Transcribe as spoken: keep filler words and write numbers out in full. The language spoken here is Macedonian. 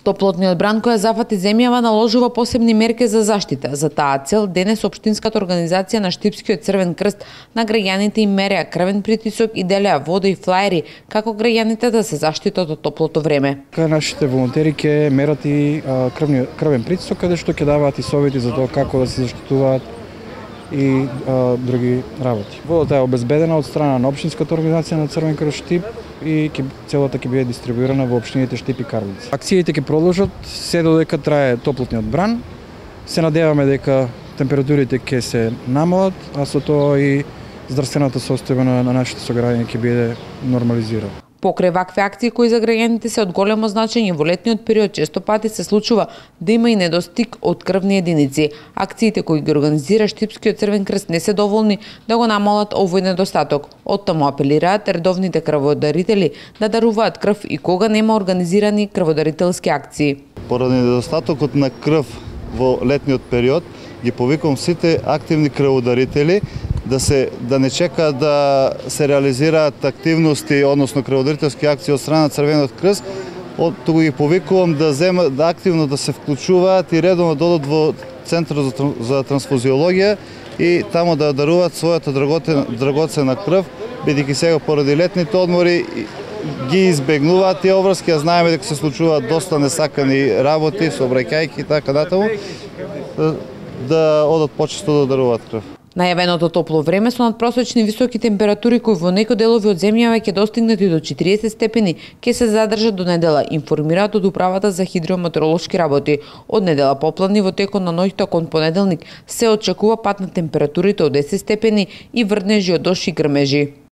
Топлотниот бран која зафати земјава наложува посебни мерки за заштита. За таа цел денес општинската организација на Штипскиот Црвен крст на граѓаните им мереа крвен притисок и делеа вода и флаери како граѓаните да се заштитат од топлото време. Кај нашите волонтери ќе мерат и крвни, крвен притисок, каде што ќе даваат и совети за тоа како да се заштитуваат и а, други работи. Водата е обезбедена од страна на општинската организација на Црвен крст Штип и ке, целата ќе биде дистрибуирана во општините Штип и Карлица. Акциите ќе продолжат се додека трае топлотниот бран. Се надеваме дека температурите ќе се намалат, а со тоа и здравствената состојба на нашите сограѓани ќе биде нормализирана. Покрај вакви акции кои за граѓаните се од големо значење во летниот период, често пати се случува да има и недостиг од крвни единици. Акциите кои ги организира Штипскиот Црвен крст не се доволни да го намалат овој недостаток. Оттаму апелираат редовните крводарители да даруваат крв и кога нема организирани крводарителски акции. Поради недостатокот на крв во летниот период, ги повикувам сите активни крводарители да се да не чека да се реализираат активности, односно крводарителски акции од страна на Црвениот крст, туку ги повикувам да земат да активно да се вклучуваат и редовно да одат во центарот за, за трансфузиологија и таму да даруваат својата драгоцена крв, бидејќи сега поради летните одмори ги избегнуваат тие обврски, а знаеме дека се случуваат доста несакани работи, сообраќајки и така натаму, да одат почесто да даруваат крв. Најавеното топло време со надпросечни високи температури кои во некои делови од земјава ќе достигнат и до четириесет степени, ќе се задржат до недела, информираат од управата за хидрометеоролошки работи. Од недела попладни во текот на ноќта кон понеделник се очекува пад на температурите од десет степени и врнежи од дожд и грмежи.